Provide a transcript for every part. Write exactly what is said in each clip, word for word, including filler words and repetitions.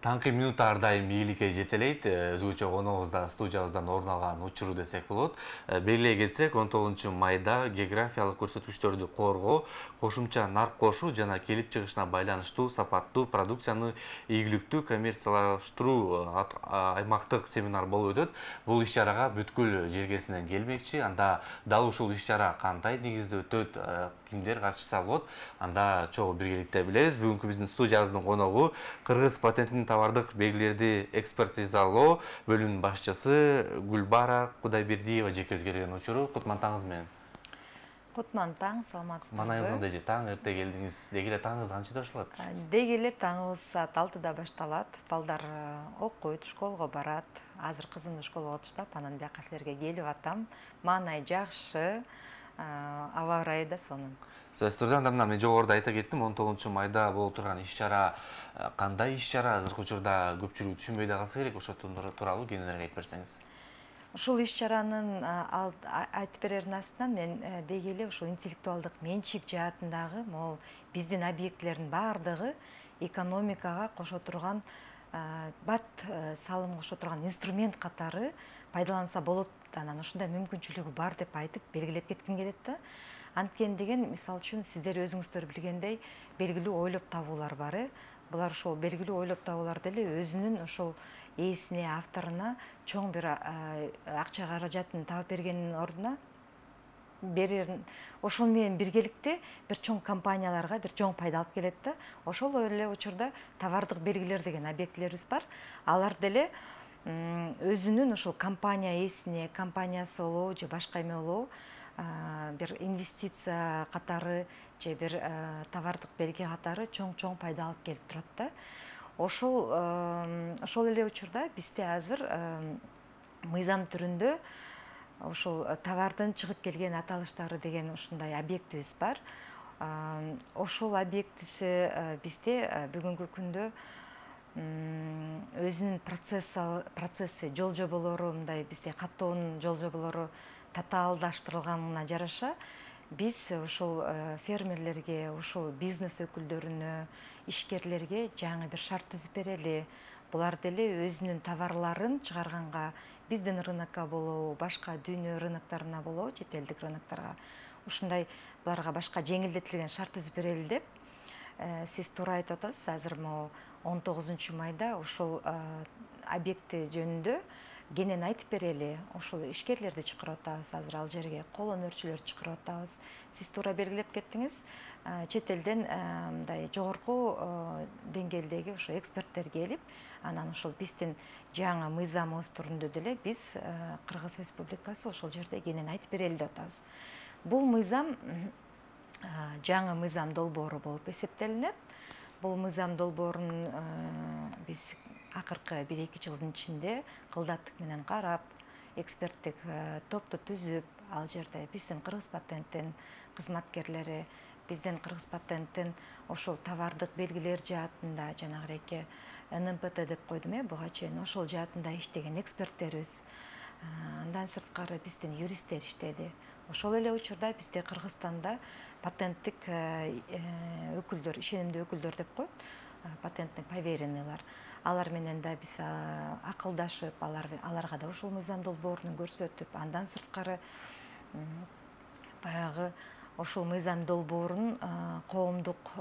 Таңкы минут ар дайым ийгиликке жетелейт. Өзгөчө коногубузда студиябыздан орун алган учуру десек болот. Белгилей кетсек, он тогузунчу майда географиялык көрсөткүчтөрдү коргоо, кошумча нарк кошуу жана келип чыгышына байланыштуу сапаттуу продукцияны ийгиликтүү коммерциялаштыруу аймактык семинар болуп өтөт. Бул иш-чарага бүткүл желкесинен келмекчи. Анда дал ушул иш-чара кандай негизде өтөт, кимдер катышса болот, анда чогуу биргеликте билебиз. Бүгүнкү биздин студиябыздын коногу Кыргыз патенттин товардык белгилерди экспертизалоо бөлүмүнүн башчысы Гүлбара Кудайбердиева жекебизге келген учуру. Кутман таңыңыз менен. Кутман таң, саламатсыздарбы? Манайыңыз кандай же? Таң эрте келдиңиз. Деги эле таңыңыз канчада башталат? Деги эле таңыбыз саат алтыда башталат. Балдар окуйт, школго барат. Азыр кызымды школго отуштап, анан бияка силерге келип атам. Маанай жакшы. Аба ырайы да сонун. Сөзсүз түрдө анда мына мен жогоруда айта кеттим, он тогузунчу майда болуп турган иш-чара кандай иш-чара? Азыркы учурда көпчүлүк түшүнбөй да калса керек, ошол тууралуу кеңирээк айтып берсеңиз. Ушул иш-чаранын айтып берердин астынан мен деги эле ушул интеллектуалдык менчик жаатындагы могул биздин объектилердин баардыгы экономикага кошо турган бат салым кошо турган инструмент катары пайдаланса болот. Анан ушундай мүмкүнчүлүгү бар деп айтып белгилеп кетким келет да. Анткени деген, мисалы үчүн сиздер өзүңүздөр билгендей белгилүү ойлоп табуулар бар. Булар ошол белгилүү ойлоп табуулар деле өзүнүн ошол ээсине, авторуна чоң бир акча каражатын таап бергендин ордуна берерин, ошол менен биргеликте бир чоң компанияларга бир чоң пайда алып келет да. Ошол эле учурда товардык белгилер деген объектилерибиз бар. Алар деле өзүнүн ошол компания ээсине, компаниясы болобу же башка эме болобу, бир инвестиция катары же бир товардык белги катары чоң-чоң пайда алып келип турат да. Ошол ошол эле учурда бизде азыр мыйзам түрүндө ошол товардын чыгып келген аталыштары деген ушундай объектибиз бар. Ошол объектиси бизде бүгүнкү күндө өзүнүн процесси, жол жоболору, мындай бизде каттоонун жол жоболору татаалдаштырылганына жараша биз ошол фермерлерге, ошол бизнес өкүлдөрүнө, ишкерлерге жаңы бир шарт түзүп берели. Булар деле өзүнүн товарларын чыгарганга биздин рынокко болобу, башка дүйнө рыноктарына болобу, чет элдик рыноктарга ушундай буларга башка жеңилдетилген шарт түзүп берели деп сиз туура айтып атасыз. Азыр могу он тогузунчу майда ошол объекти жөнүндө кенен айтып берели. Ошол ишкерлерди чакырып атабыз, азыр ал жерге кол өнөрчүлөрдү чакырып атабыз. Сиз туура белгилеп кеттиңиз. Чет элден мындай жогорку деңгээлдеги ошо эксперттер келип, анан ошол биздин жаңы мыйзамыбыз түрүндө деле биз Кыргыз Республикасы ошол жерде кенен айтып берели деп атабыз. Бул мыйзам жаңы мыйзам долбоору болуп эсептелинет. Бул мыйзам долбоорун биз акыркы бир эки жылдын ичинде кылдаттык менен карап, эксперттик топту түзүп, ал жерде биздин Кыргыз патенттин кызматкерлери, биздин Кыргыз патенттин ошол товардык белгилер жаатында жанагыреки эн эм пэ тэ деп койдум э, буга чейин ошол жаатында иштеген эксперттерибиз. Андан сырткары биздин юристтер иштеди. Ошол эле учурда бизде Кыргызстанда патенттик өкүлдөр, ишенимдүү өкүлдөр деп коет, патенттик поверенныйлар. Алар менен да биз акылдашып, аларга да ошол мыйзам долбоорун көрсөтүп, андан сырткары баягы ошол мыйзам долбоорун коомдук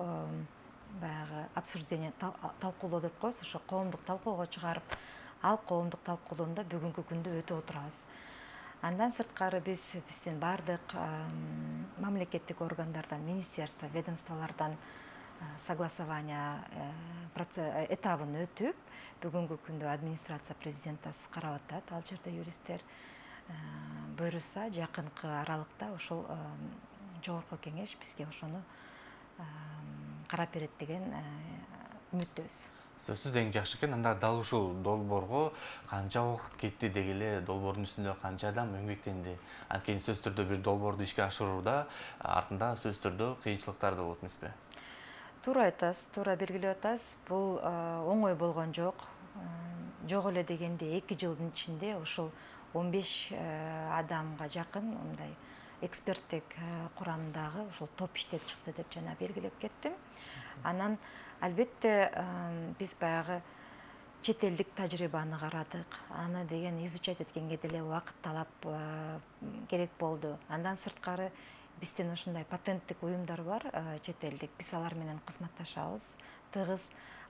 баягы обсуждение, талкуулоо деп коебуз, ошо коомдук талкуога чыгарып, ал коомдук талкуулоодо бүгүнкү күндө өтүп отурабыз. Андан сырткары биз биздин баардык мамлекеттик органдардан, министерство, ведомстволордон согласование этабын өтүп, бүгүнкү күндө администрация президентасы карап атат. Ал жерде юристтер буйруса жакынкы аралыкта ошол жогорку кеңеш бизге ошону карап берет деген үмүттөбүз. Сөзсүз эң жакшы экен. Анда дал ушул долбоорго канча убакыт кетти деги эле, долбоордун үстүндө канча адам эмгектенди? Анткени сөзсүз түрдө бир долбоорду ишке ашырууда артында сөзсүз түрдө кыйынчылыктар да болот эмеспи? Туура айтасыз, туура белгилеп атасыз. Бул оңой болгон жок. Жок эле дегенде эки жылдын ичинде ушул он беш адамга жакын мындай эксперттик курамдагы ушул топ иштеп чыкты деп жана белгилеп кеттим. Анан албетте биз баягы чет элдик тажрыйбаны карадык. Аны деген изучать эткенге деле убакыт талап керек болду. Андан сырткары биздин ушундай патенттик уюмдар бар, чет элдик. Биз алар менен кызматташабыз, тыгыз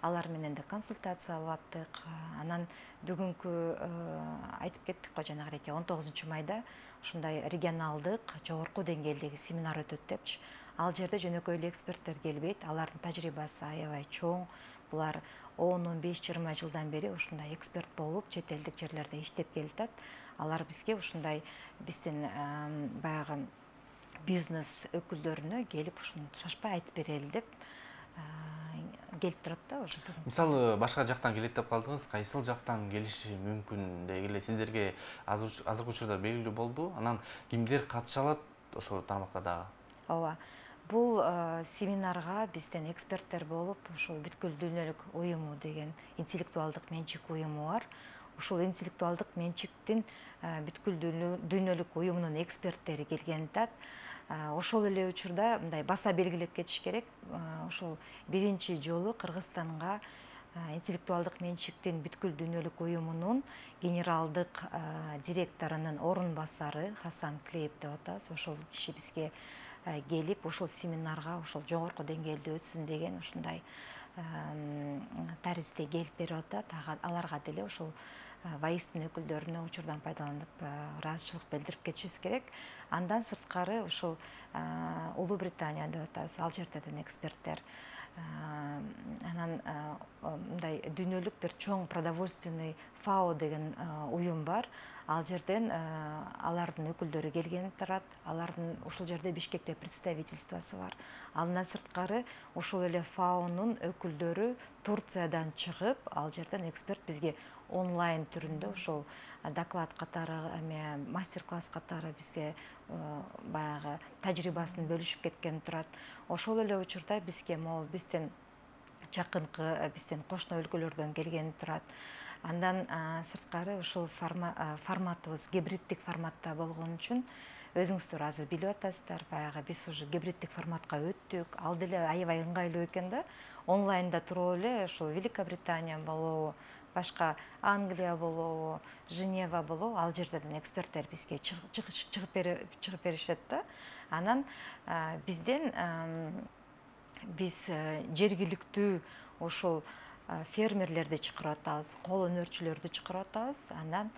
алар менен да консультация алып аттык. Анан бүгүнкү айтып кеттик го жанагыдей он тогузунчу майда ушундай регионалдык жогорку деңгээлдеги семинар өтөт депчи. Ал жерде жөнөкөй эле эксперттер келбейт, алардын тажрыйбасы аябай чоң. Булар он он беш жыйырма жылдан бери ушундай эксперт болуп, чет элдик жерлерде иштеп келатат. Алар бизге ушундай биздин баягы бизнес өкүлдөрүнө келип ушуну шашпай айтып берели деп келип турат да уже. Мисалы, башка жактан келет деп калдыңыз, кайсыл жактан келиши мүмкүн дегиле сиздерге азыркы учурда белгилүү болду? Анан кимдер катыша алат ошол тармакта дагы? Ооба. Бул семинарга бизден эксперттер болуп, ушул бүткүл дүйнөлүк уюму деген интеллектуалдык менчик уюму бар. Ушул интеллектуалдык менчиктин бүткүл дүйнөлүк уюмунун эксперттери келген атат. Ошол эле учурда мындай баса белгилеп кетиш керек. Ошол биринчи жолу Кыргызстанга интеллектуалдык менчиктин бүткүл дүйнөлүк уюмунун генералдык директорунун орун басары Хасан Клеев деп атабыз. Ошол киши бизге келип, ушул семинарга ушул жогорку деңгээлде өтсүн деген ушундай таризде келип берип атат. Аларга деле ушул ВАИСтин өкүлдөрүнө учурдан пайдаланып ыраазычылык билдирип кетишибиз керек. Андан сырткары ушул Улуу Британия деп атабыз, ал жерден эксперттер. Анан мындай дүйнөлүк бир чоң продовольственный ФАО деген уюм бар. Ал жерден алардын өкүлдөрү келген турат. Алардын ушул жерде Бишкекте представительствосы бар. Андан сырткары ушул эле ФАОнун өкүлдөрү Турциядан чыгып, ал жерден эксперт бизге онлайн түрүндө ушул доклад катары, мастер-класс катары бизге баягы тажрыйбасын бөлүшүп кеткен турат. Ошол эле учурда бизге могул биздин жакынкы биздин кошуна өлкөлөрдөн келген турат. Андан сырткары ушул форматыбыз гибриддик форматта болгон үчүн өзүңүздөр азыр билип атасыздар, баягы биз уже гибриддик форматка өттүк. Ал деле аябай ыңгайлуу экен да. Онлайнда туруп эле ушул Великобритания болобу, башка Англия болобу, Женева болобу, ал жерден эксперттер бизге чыгып беришет да. Анан бизден биз жергиликтүү ушул фермерлерди чакырып атабыз, кол өнөрчүлөрдү чакырып атабыз, андан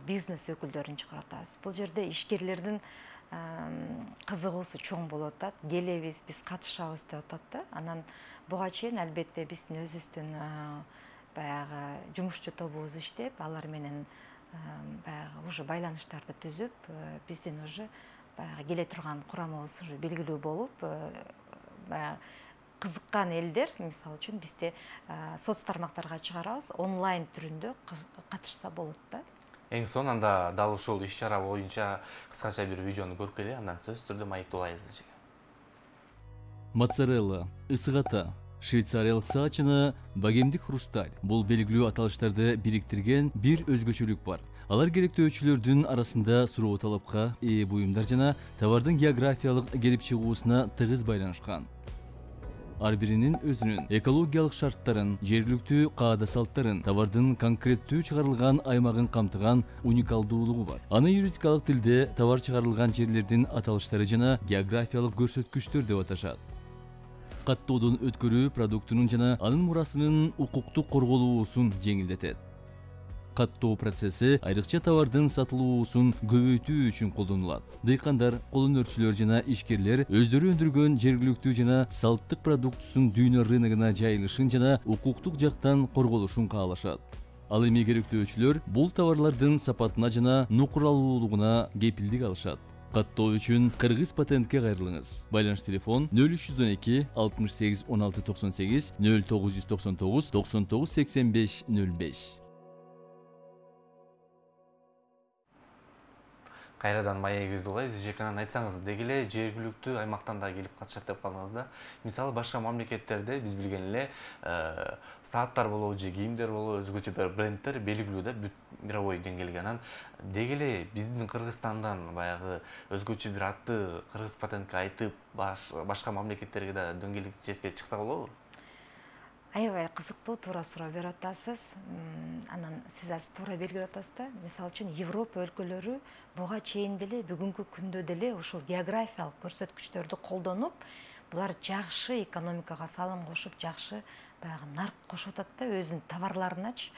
бизнес өкүлдөрүн чакырып атабыз. Бул жерде ишкерлердин кызыгуусу чоң болуп атат. Келебиз, биз катышабыз деп атат да. Анан буга чейин албетте биздин өзүбүздүн баягы жумушчу тобубуз иштеп, алар менен баягы уже байланыштарды түзүп, биздин уже баягы келе турган курамыбыз уже белгилүү болуп, баягы кызыккан элдер, мисалы үчүн бизде соц тармактарга чыгарабыз, онлайн түрүндө катышса болот да. Эң сонунда дал ушул иш-чара боюнча кыскача бир видеону көрүп келе, андан сөзсүз түрдө маектуулайбыз. Моцарелла, ысык ата, швейцариялык саатчыны богемдик хрусталь. Бул белгилүү аталыштарды бириктирген бир өзгөчөлүк бар. Алар керектөөчүлөрдүн арасында суроо талапка ээ буюмдар жана товардын географиялык келип чыгуусуна тыгыз байланышкан. Ар биринин өзүнүн экологиялык шарттарын, жергиликтүү каада салттарын, товардын конкреттүү чыгарылган аймагын камтыган уникалдуулугу бар. Аны юридикалык тилде товар чыгарылган жерлердин аталыштары жана географиялык көрсөткүчтөр деп аташат. Каттоодон өткөрүү продуктунун жана анын мурасынын укуктук корголуусун жеңилдетет. Каттоо процесси айрыкча товардын сатылуусун көбөйтүү үчүн колдонулат. Дыйкандар, кол өнөрчүлөр жана ишкерлер өздөрү өндүргөн жергиликтүү жана салттык продуктусун дүйнө рыногуна жайылышын жана укуктук жактан корголушун каалашат. Ал эми керектөөчүлөр бул товарлардын сапатына жана нукуралуулугуна кепилдик алышат. Каттоо үчүн Кыргыз патентке кайрылыңыз. Байланыш телефон нөл үч жүз он эки алтымыш сегиз он алты токсон сегиз, нөл тогуз жүз токсон тогуз токсон тогуз сексен беш нөл беш. Кайрадан маегибизди улайбыз. Жеканан айтсаңыз, дегеле жергиликтүү аймактан да келип катышат деп калдыңыз да. Мисалы башка мамлекеттерде биз билген эле сааттар болобу же кийимдер болобу, өзгөчө бир брендтер белгилүү да, мировой деңгээлге. Анан дегеле биздин Кыргызстандан баягы өзгөчө бир атты кыргыз патентке айтып, башка мамлекеттерге да дөңгөлөк жетке чыкса болобу? аябай кызыктуу, туура суроо берип атасыз. Анан сиз азыр туура белгилеп атасыз да. Мисалы үчүн Европа өлкөлөрү буга чейин деле, бүгүнкү күндө деле ушул географиялык көрсөткүчтөрдү колдонуп, булар жакшы экономикага салым кошуп, жакшы баягы нарк кошуп атат да өзүнүн товарларыначы.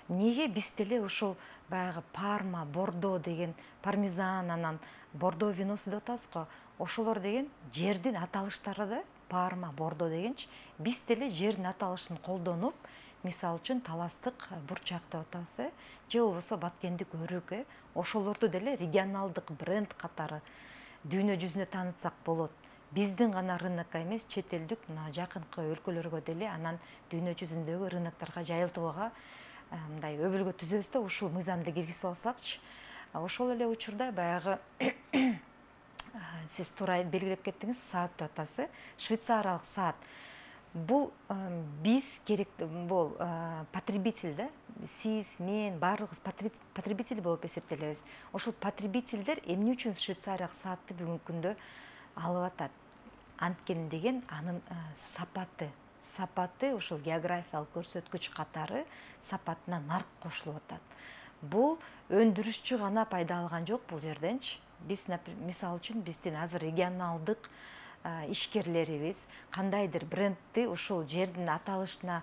Неге биз деле ушул баягы Парма, Бордо деген, пармезан, анан Бордо виносу деп атабыз го. Ошолор деген жердин аталыштары да, Парма, Бордо дегенчи, биз деле жердин аталышын колдонуп, мисалы үчүн таластык бурчак деп атабыз, же болбосо баткендик өрүк, ошолорду деле регионалдык бренд катары дүйнө жүзүнө таанытсак болот. Биздин гана рынокко эмес, чет элдик мына жакынкы өлкөлөргө деле, анан дүйнө жүзүндөгү рынокторго жайылтууга мындай өбөлгө түзөбүз да, ушул мыйзамды киргизип алсакчы. Ошол эле учурда баягы сиз туура белгилеп кеттиңиз, саат деп атасыз, швейцариялык саат. Бул биз керек, бул потребитель да, сиз, мен, баарыбыз потребитель болуп эсептелебиз. Ошол потребительдер эмне үчүн швейцариялык саатты бүгүнкү күндө алып атат? Анткени деген анын сапаты, сапаты ушул географиялык көрсөткүч катары сапатына нарк кошулуп атат. Бул өндүрүшчү гана пайда алган жок бул жерденчи. Биз, мисалы үчүн, биздин азыр регионалдык ишкерлерибиз кандайдыр брендти ушул жердин аталышына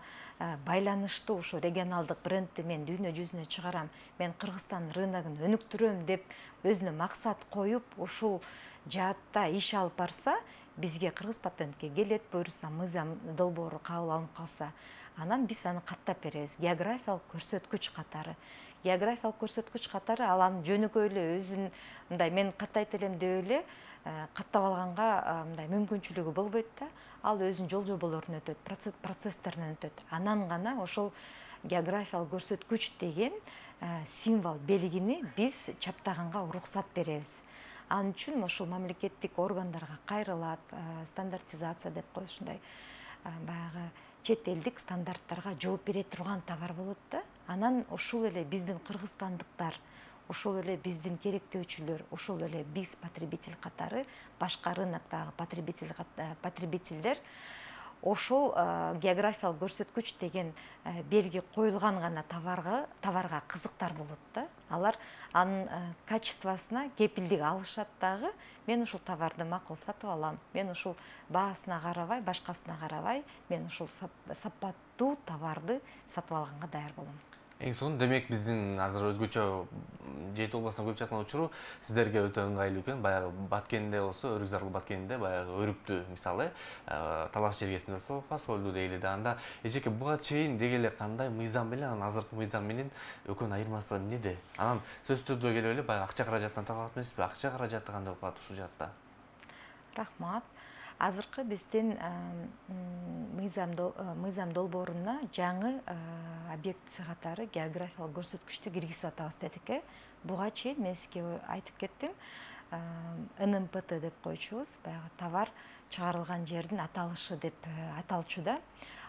байланыштуу, ушул регионалдык брендти мен дүйнө жүзүнө чыгарам, мен Кыргызстан рыногун өнүктүрөм деп өзүнө максат коюп, ушул жаатта иш алып барса, бизге Кыргыз патентке келет, буюрса мыйзам долбоору кабыл алынып калса, анан биз аны каттап беребиз. Географиялык көрсөткүч катары. Географиялык көрсөткүч катары ал анын жөнөкөй эле өзүн мындай мен каттайт элем деп эле каттап алганга мындай мүмкүнчүлүгү болбойт да. Ал өзүнүн жол жоболорунан өтөт, процесстеринен өтөт. Анан гана ошол географиялык көрсөткүч деген символ, белгини биз чаптаганга уруксат беребиз. Анын үчүн ошол мамлекеттик органдарга кайрылат, стандартизация деп коебуз, ушундай баягы чет элдик стандарттарга жооп бере турган товар болот да. Анан ошол эле биздин кыргызстандыктар, ошол эле биздин керектөөчүлөр, ошол эле биз потребитель катары, башка рыноктогу потребительдер ошол географиялык көрсөткүч деген белги коюлган гана товарга товарга кызыктар болот да. Алар анын качествосуна кепилдик алышат дагы. Мен ушул товарды макул сатып алам. Мен ушул баасына карабай, башкасына карабай, мен ушул сапаттуу товарды сатып алганга даяр болом. Эң сонун, демек биздин азыр өзгөчө жети областынан көчүп жаткан учуру сиздерге өтө ыңгайлуу экен. Баягы Баткенде болсо, Өрүк Зарыл Баткенде баягы өрүктү, мисалы, талаш жергесинде болсо фасолду дейли да. Анда эжеке буга чейин деги эле кандай мыйзам менен, анан азыркы мыйзам менен экөөнүн айырмасы эмнеде? Анан сөзсүз түрдө келип эле баягы акча каражатынан талап эмеспи? Акча каражаты кандай болуп калат ушул жакта? Рахмат. Азыркы биздин мыйзам долбооруна жаңы объекти катары географиялык көрсөткүчтү киргизип атабыз дедик. Буга чейин мен сизге айтып кеттим, эн эм пэ тэ деп койчубуз, баягы товар чыгарылган жердин аталышы деп аталчу да.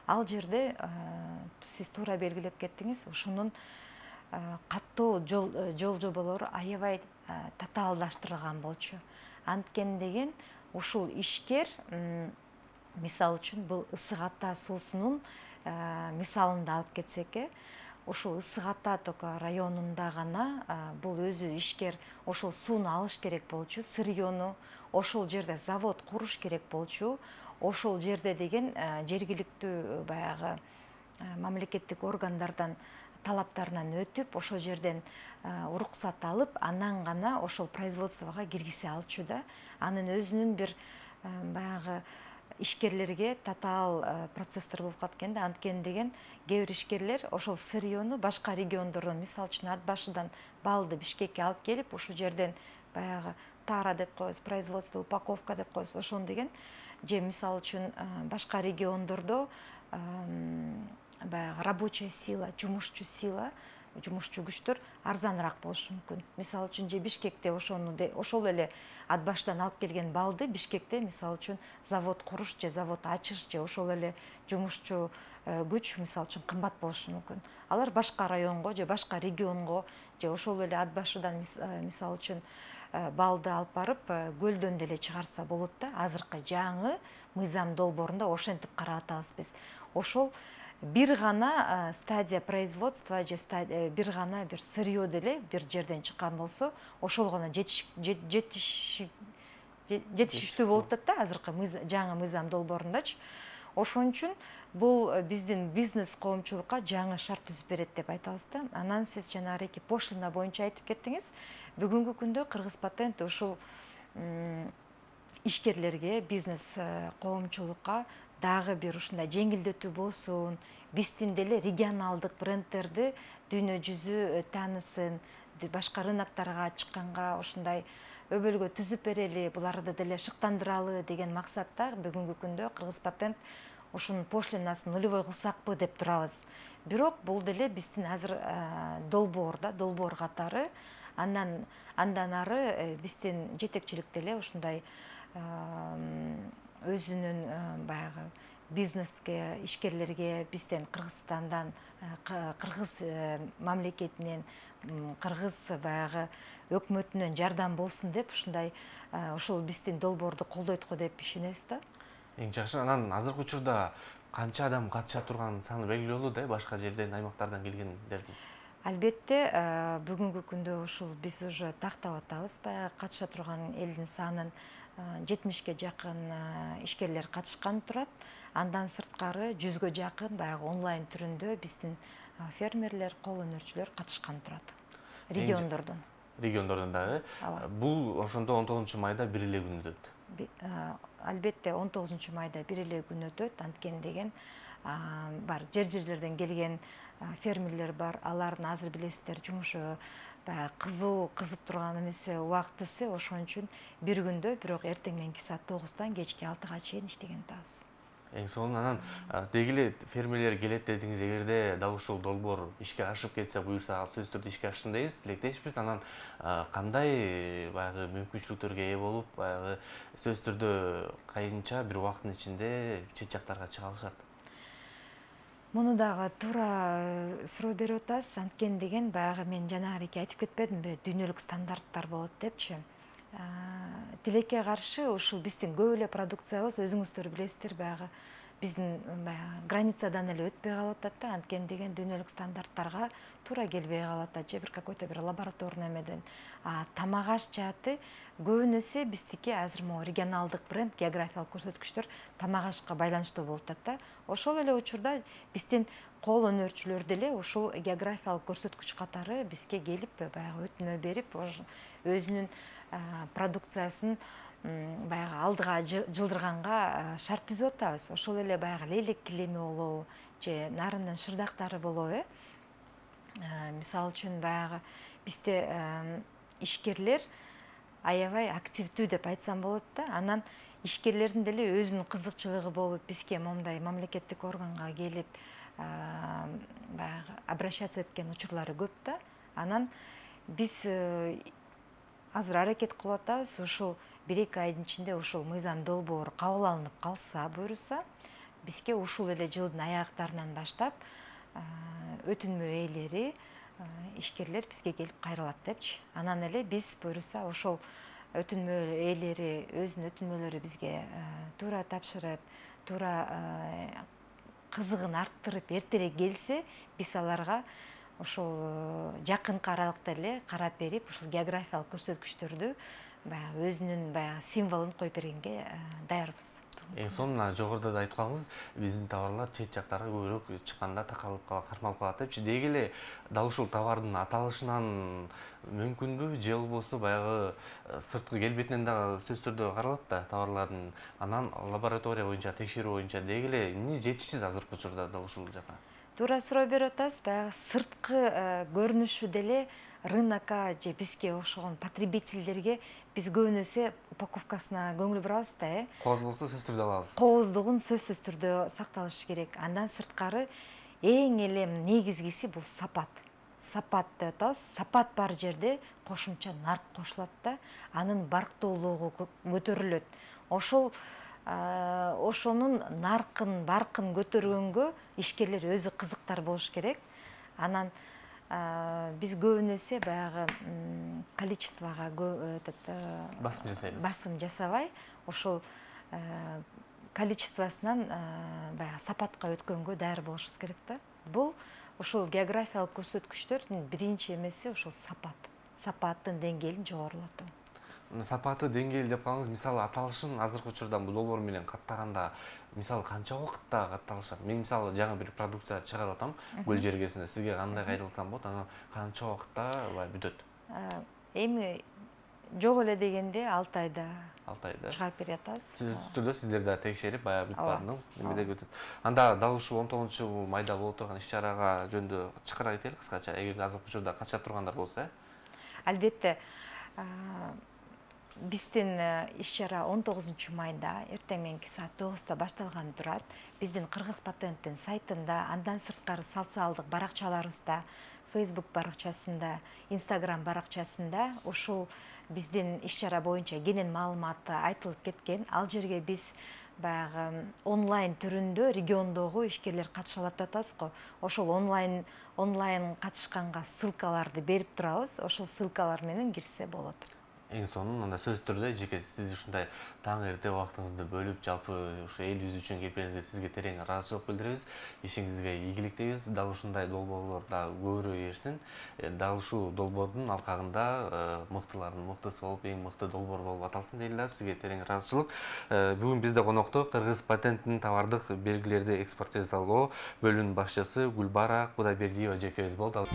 Ал жерде сиз туура белгилеп кеттиңиз, ушунун каттоо жол жоболору аябай татаалдаштырылган болчу. Анткени деген ушул ишкер, мисалы үчүн, бул Ысык Ата суусунун мисалында алып кетсек, ушул Ысык Ата только районунда гана бул өзү ишкер ошол сууну алыш керек болчу, сырьёну, ошол жерде завод куруш керек болчу, ошол жерде деген жергиликтүү баягы мамлекеттик органдардан талаптарынан өтүп, ошол жерден уруксат алып, анан гана ошол производствого киргизе алчу да. Анын өзүнүн бир баягы ишкерлерге татаал процесстер болуп калат экен да. Анткени деген кээ бир ишкерлер ошол сырьёну башка региондордон, мисалы үчүн Ат башыдан балды Бишкекке алып келип, ошол жерден баягы тара деп коебуз, производство, упаковка деп коебуз, ошону деген, же мисалы үчүн башка региондордо баягы рабочая сила, жумушчу сила, жумушчу күчтөр арзаныраак болушу мүмкүн. Мисалы үчүн же Бишкекте ошону ошол эле Ат башыдан алып келген балды Бишкекте мисалы үчүн завод куруш же завод ачыш же ошол эле жумушчу күч мисалы үчүн кымбат болушу мүмкүн. Алар башка районго же башка регионго же ошол эле Ат башыдан мисалы үчүн балды алып барып көлдөн деле чыгарса болот да. Азыркы жаңы мыйзам долбоорунда ошентип карап атабыз биз. Ошол бир гана стадия производства же бир гана бир сырье деле бир жерден чыккан болсо ошол гана жетиш жетишиштүү болуп атат да азыркы жаңы мыйзам долбоорундачы. Ошон үчүн бул биздин бизнес коомчулукка жаңы шарт түзүп берет деп айтабыз да. Анан сиз жанагы пошлина боюнча айтып кеттиңиз. Бүгүнкү күндө Кыргыз патент ушул ишкерлерге, бизнес коомчулукка дагы бир ушундай жеңилдетүү болсун, биздин деле регионалдык брендтерди дүйнө жүзү таанысын, башка рыноктарга чыкканга ушундай өбөлгө түзүп берели, буларды деле шыктандыралы деген максатта бүгүнкү күндө Кыргыз патент ушунун пошлинасын нулевой кылсакпы деп турабыз. Бирок бул деле биздин азыр долбоорда, долбоор катары, андан андан ары биздин жетекчилик деле ушундай өзүнүн баягы бизнеске, ишкерлерге бизден Кыргызстандан, Кыргыз мамлекетинен, Кыргыз баягы өкмөтүнөн жардам болсун деп ушундай ошол биздин долбоорду колдойт го деп ишенебиз да. Эң жакшы. Анан азыркы учурда канча адам катыша турган саны белгилүү болду да, башка жерден, аймактардан келгендердин? Албетте, бүгүнкү күндө ушул биз уже тактап атабыз, баягы катыша турган элдин санын жетимишке жакын ишкерлер катышкан турат. Андан сырткары жүзгө жакын баягы онлайн түрүндө биздин фермерлер, кол өнөрчүлөр катышкан турат. Региондордон. Региондордон дагы. Бул ошондо он тогузунчу майда бир эле күн өтөт. Албетте он тогузунчу майда бир эле күн өтөт. Анткени деген бар жер-жерлерден келген фермерлер бар. Алардын азыр билесиздер жумушу баягы кызуу кызып турган эмеси убактысы, ошон үчүн бир күндө, бирок эртең мененки саат тогуздан кечки алтыга чейин иштеген атабыз. Эң сонун анан деги эле фермерлер келет дедиңиз, эгерде дал ушул долбоор ишке ашып кетсе, буюрса, ал сөзсүз түрдө ишке ашсын дейбиз, тилектешпиз. Анан кандай баягы мүмкүнчүлүктөргө ээ болуп, баягы сөзсүз түрдө кайынча бир убакыттын ичинде чет жактарга чыга алышат? Муну дагы туура суроо берип атасыз. Анткени деген баягы мен жанагы айтып кетпедимби, дүйнөлүк стандарттар болот депчи. Тилекке каршы ушул биздин көп эле продукциябыз, өзүңүздөр билесиздер, баягы биздин границадан эле өтпөй калып атат да. Анткени деген дүйнөлүк стандарттарга туура келбей калып атат, же бир какой-то бир лабораторный эмеден. А тамак аш жааты көбүнесе биздики азыр могу регионалдык бренд, географиялык көрсөткүчтөр тамак ашка байланыштуу болуп атат да. Ошол эле учурда биздин кол өнөрчүлөр деле ушул географиялык көрсөткүч катары бизге келип баягы өтүнмө берип, өзүнүн продукциясын баягы алдыга жылдырганга шарт түзүп атабыз. Ошол эле баягы лейлек килеми болобу, же нарындын шырдактары болобу, э? Мисалы үчүн баягы бизде ишкерлер аябай активдүү деп айтсам болот да. Анан ишкерлердин деле өзүнүн кызыкчылыгы болуп, бизге момундай мамлекеттик органга келип баягы обращаться эткен учурлары көп да. Анан биз азыр аракет кылып атабыз, ушул бир эки айдын ичинде ушул мыйзам долбоору кабыл алынып калса, буюрса, бизге ушул эле жылдын аяктарынан баштап өтүнмө ээлери, ишкерлер бизге келип кайрылат депчи. Анан эле биз буюрса ошол өтүнмө ээлери өзүнүн өтүнмөлөрү бизге туура тапшырып, туура кызыгын арттырып эртерээк келсе, биз аларга ошол жакынкы аралыкта эле карап берип, ушул географиялык көрсөткүчтөрдү баягы өзүнүн баягы символун коюп бергенге даярбыз. Эң сонун жогоруда да айтып калдыңыз, биздин товарлар чет жактарга көбүрөөк чыкканда такалып калат, кармалып калат депчи. Деги эле дал ушул товардын аталышынан мүмкүнбү, же болбосо баягы сырткы келбетинен дагы сөзсүз түрдө каралат да товарлардын. Анан лаборатория боюнча, текшерүү боюнча деги эле эмне жетишсиз азыркы учурда дал ушул жака? Туура суроо берип атасыз. Баягы сырткы көрүнүшү деле рынокко же бизге окшогон потребительдерге биз көбүнесе упаковкасына көңүл бурабыз да, э? Кооз болсо сөзсүз түрдө алабыз. Кооздугун сөзсүз түрдө сакталышы керек. Андан сырткары эң эле негизгиси бул сапат. Сапат деп атабыз. Сапат бар жерде кошумча нарк кошулат да, анын барктуулугу көтөрүлөт. Ошол ошонун наркын, баркын көтөргөнгө ишкерлер өзү кызыктар болуш керек. Анан биз көбүнесе баягы количествого басым жасайбыз. Басым жасабай, ошол количествосунан баягы сапатка өткөнгө даяр болушубуз керек да. Бул ушул географиялык көрсөткүчтөрдүн биринчи эмеси ушул сапат. Сапаттын деңгээлин жогорулатуу. Сапаты деңгээли деп калыңыз, мисалы аталышын азыркы учурда бул долбоор менен каттаганда мисалы канча убакытта катталышат? Мен мисалы жаңы бир продукция чыгарып атам көл жергесинде, сизге кандай кайрылсам болот, анан канча убакытта бүтөт? Эми жок эле дегенде алты айда алты айда чыгарып бере атабыз. Сөзсүз түрдө сиздер да текшерип, баягы бүт баардыгын эмеде өтөт. Анда дал ушул он тогузунчу майда болуп турган иш-чарага жөнүндө чакыра кетели кыскача, эгер азыркы учурда катышат тургандар болсо, э? Албетте, биздин иш-чара он тогузунчу майда эртең мененки саат тогузда башталганы турат. Биздин Кыргыз патенттин сайтында, андан сырткары социалдык баракчаларыбызда, Facebook баракчасында, Instagram баракчасында ушул биздин иш-чара боюнча кенен маалыматы айтылып кеткен. Ал жерге биз баягы онлайн түрүндө региондогу ишкерлер катыша алат деп атабыз го. Ошол онлайн онлайн катышканга ссылкаларды берип турабыз. Ошол ссылкалар менен кирсе болот. Эң сонун анда сөзсүз түрдө жеке сиз ушундай таң эрте убактыңызды бөлүп, жалпы ушу элибиз үчүн келгениңизге сизге терең ыраазычылык билдиребиз. Ишиңизге ийгилик тийиз. Дал ушундай долбоорлор да көбүрөөк эрсин. Дал ушул долбоордун алкагында мыктылардын мыктысы болуп, эң мыкты долбоор болуп аталсын дейли да. Сизге терең ыраазычылык. Бүгүн бизде конокто Кыргыз патенттин товардык белгилерди экспортизалоо бөлүмүнүн башчысы Гүлбара Кудайбердиева жекебиз болду.